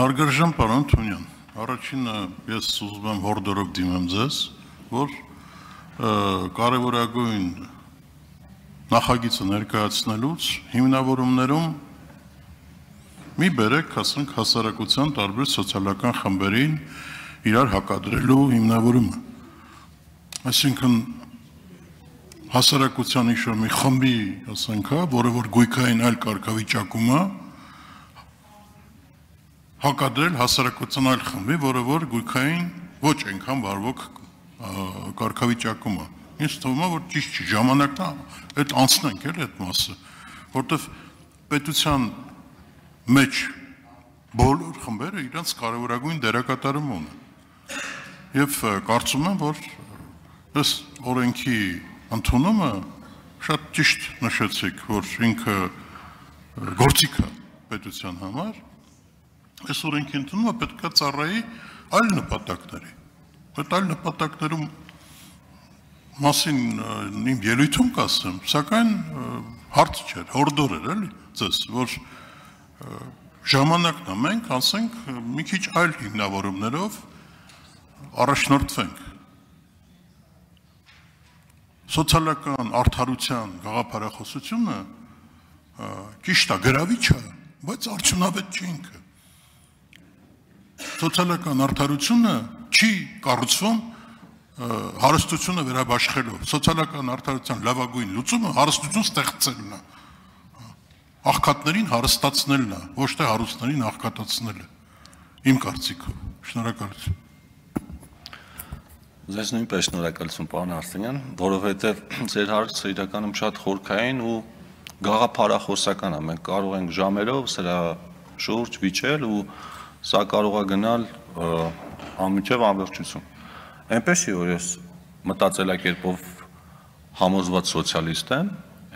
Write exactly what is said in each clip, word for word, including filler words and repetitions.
Հարգարժան պարոն Թունյան, առաջինը ես ուզում եմ հորդորով դիմեմ ձեզ, որ կարևորագույն նախագիծը ներկայացնելուց հիմնավորումներում մի բերեք, ասենք, հասարակության տարբեր սոցիալական խմբերին իրար հակադրելու հիմնավորումը։ Այսինքն հասարակության ինչ-որ մի խմբի, ասենք, որը որ գույքային այլ կարգավիճակում է, հակադրել հասարակության այլ խմբի, որը որ գույքային ոչ այնքան վարվող կարգավիճակում է։ Ինձ թվում է, որ ճիշտ չի, ժամանակն է այդ անցնենք էլ այդ մասը, որտեվ պետության մեջ բոլոր խմբերը իրենց կարևորագույն դերակատարում ունեն։ Եվ կարծում եմ, որ այս օրենքի ընդունումը շատ ճիշտ նշեցիք, որ ինքը գործիք է պետության համար, այս օրենքի ընդունումը պետք է ծառայի այլ նպատակների։ Այդ այլ նպատակներում մասին իմ ելույթում կասեմ, սակայն հարց չէր, հորդոր էր, էլի, ձեզ, որ ժամանակն է մենք, ասենք, մի քիչ այլ հիմնավորումներով առաջնորդվենք։ Սոցիալական արդարության գաղափարախոսությունը ճիշտ է, գրավիչ է, բայց արդյունավետ չի ինքը։ Սոցիալական արդարությունը չի կառուցվում հարստությունը վերաբաշխելով, սոցիալական արդարության լավագույն լուծումը հարստություն ստեղծելն է, աղքատներին հարստացնելն է, ոչ թե հարուստներին աղքատացնելը, իմ կարծիքով, շնորհակալություն։ Ձեզ նույնպես շնորհակալություն, պարոն Արսենյան, որովհետև ձեր հարցը իրականում շատ խորքային ու գաղափարախոսական է, մենք կարող ենք ժամերով սրա շուրջ վիճել ու սա կարող է գնալ անմիջև անվերջություն։ Այնպես չի, որ ես մտածելակերպով համոզված սոցիալիստ եմ,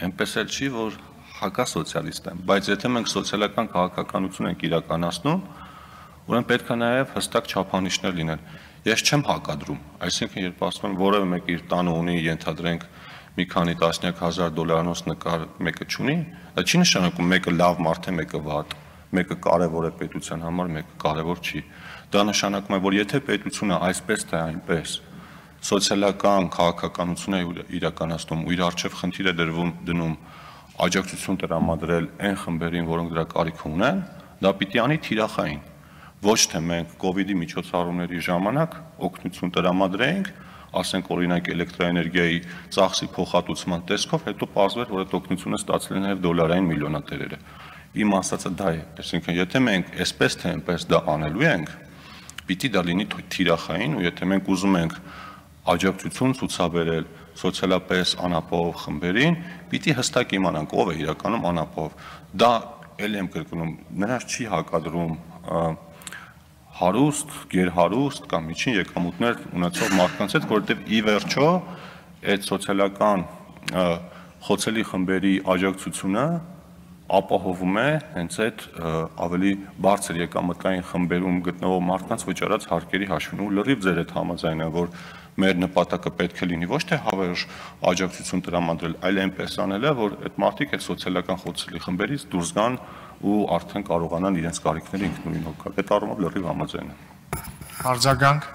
այնպես էլ չի, որ հակասոցիալիստ եմ, բայց եթե մենք սոցիալական քաղաքականություն ենք իրականացնում, ուրեմն պետք է նաև հստակ չափանիշներ լինեն։ Ես չեմ հակադրում, այսինքն երբ ասում եմ որևէ մեկ իր տանը ունի, ենթադրենք մի քանի տասնյակ հազար դոլարանոց նկար մեկը չունի, դա չի նշանակում մեկը լավ մարդ է, մեկը վատ, մեկը կարևոր է պետության համար, մեկը կարևոր չի։ Դա նշանակում է, որ եթե պետությունը այսպես թե այնպես սոցիալական քաղաքականություն է իրականացնում ու իր առջև խնդիր է դրվում դնում աջակցություն տրամադրել այն խմբերին, որոնք դրա կարիք ունեն, դա պիտի անի թիրախային։ Ոչ թե մենք կովիդի միջոցառումների ժամանակ օգնություն տրամադրեինք, ասենք օրինակ էլեկտրաէներգիայի ծախսի փոխհատուցման տեսքով, հետո պարզվեր, որ այդ օգնությունը ստացել են նաև դոլարային միլիոնատերերը։ Իմ ասածը դա է, այսինքն եթե մենք այսպես թե այնպես դա անելու ենք, պիտի դա լինի թիրախային, ու եթե մենք ուզում ենք աջակցություն ցուցաբերել սոցիալապես անապահով խմբերին, պիտի հստակ իմանանք ով է իրականում անապահով։ Դա ել եմ կրկնում, նրանց չի հակադրում հարուստ, գերհարուստ կամ միջին եկամուտներ ունեցող մարդկանց հետ, որովհետև ի վերջո այդ սոցիալական խոցելի խմբերի աջակցությունը ապահովում է հենց այդ ավելի բարձր եկամտային խմբերում գտնվող մարդկանց վճարած հարկերի հաշվին, ու լրիվ ձեր հետ համաձայն եմ, որ մեր նպատակը պետք է լինի ոչ թե հավերժ աջակցություն տրամադրել, այլ այնպես անելը, որ այդ մարդիկ այդ սոցիալական խոցելի խմբերից դուրս գան ու արդեն կարողանան իրենց կարիքները ինքնուրույն հոգալ։ Այդ առումով լրիվ համաձայն եմ։ Արձագանք։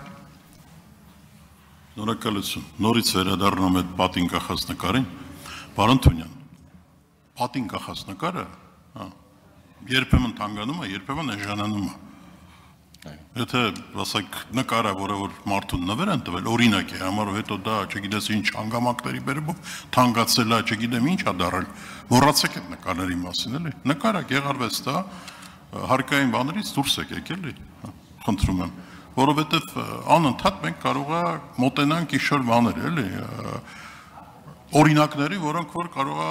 Շնորհակալություն։ Նորից վերադառնում եմ պատին կախած նկարին։ Պարոն Թունյան, պատին կախած նկարը երբեմն թանգանում է, երբեմն էժանանում է։ Եթե ասենք նկարը, որը որ մարդուն նվեր են տվել, օրինակ է, համարով հետո դա, չգիտես ինչ հանգամանքների բերումով թանկացել է, չգիտեմ ինչ է դարել, մոռացեք այդ նկարների մասին, էլի։ Նկարը գեղարվեց դա, հարկային բաներից դուրս եկեք, էլի, խնդրում եմ, որովհետև անընդհատ մենք կարող է մոտենանք ինչ-որ բաներ, էլի, օրինակների, որոնք որ կարող է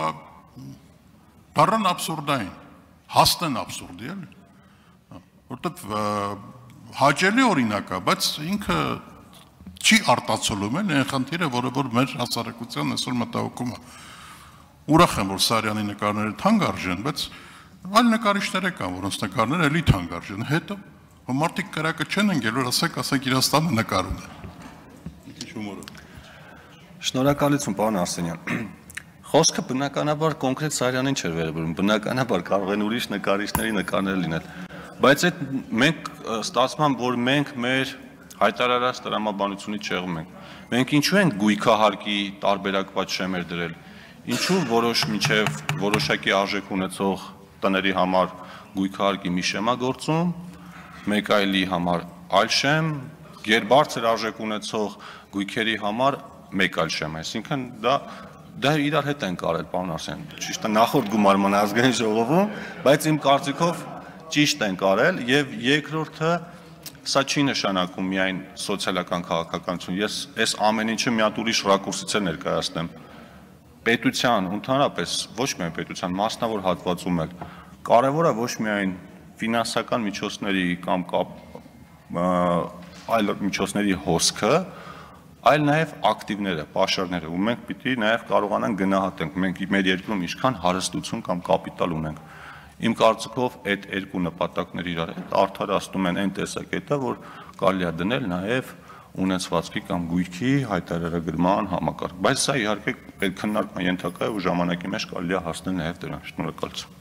դառնան աբսուրդային, հասնեն աբսուրդի, էլի, որովհետև հաճելի օրինակ է, բայց ինքը չի արտացոլում էլ այն խնդիրը, որը որ մեր հասարակության այսօր մտահոգում է։ Ուրախ եմ, որ Սարյանի նկարները թանկ արժեն, բայց այլ նկարիչներ կան, որոնց նկարները էլի թանկ արժեն։ Հետո մարդիկ կրակը չեն ընկել, ասեք, ասեք Իրաստանը նկար ունի։ Շնորհակալություն, պարոն Արսենյան։ Խոսքը բնականաբար կոնկրետ Սարյանին չէր վերաբերում, բնականաբար կարող են ուրիշ նկարիչների նկարներ լինել։ Բայց այդ մենք ստացվում որ մենք մեր հայտարարած տրամաբանությունից չեղում ենք։ Մենք ինչու ենք գույքահարկի տարբերակված շեմեր դրել։ Ինչու որոշ միջև որոշակի արժեք ունեցող տների համար գույքահարկի մի շեմ է գործում, մեկ այլի համար այլ շեմ, գերբարձր արժեք ունեցող գույքերի համար մեկ այլ շեմ, այսինքն դա դա իրար հետ են կարել, պարոն Արսեն, ճիշտ է նախորդ գումարման ազգային ժողովում, բայց իմ կարծիքով ճիշտ են կարել եւ երկրորդը սա չի նշանակում միայն սոցիալական քաղաքականություն, ես այս ամեն ինչը մի հատ ուրիշ ռակուրսից է ներկայացնեմ։ Պետության, ընդհանրապես ոչ միայն պետության մասնավոր հատվածում էլ կարևոր է ոչ միայն ֆինանսական միջոցների կամ այլ միջոցների հոսքը, այլ նաև ակտիվները, պաշարները, ու մենք պիտի նաև կարողանանք գնահատենք, մենք մեր երկրում ինչքան հարստություն կամ կապիտալ ունենք։ Իմ կարծիքով այդ երկու նպատակները իրար հետ արդարացնում են այն տեսակետը, որ կարելի է դնել նաև ունեցվածքի կամ գույքի հայտարարագրման համակարգ։ Բայց սա իհարկե այդ քննարկման ենթակա է ու ժամանակի մեջ կարելի է հասնել նաև դրան։ Շնորհակալություն։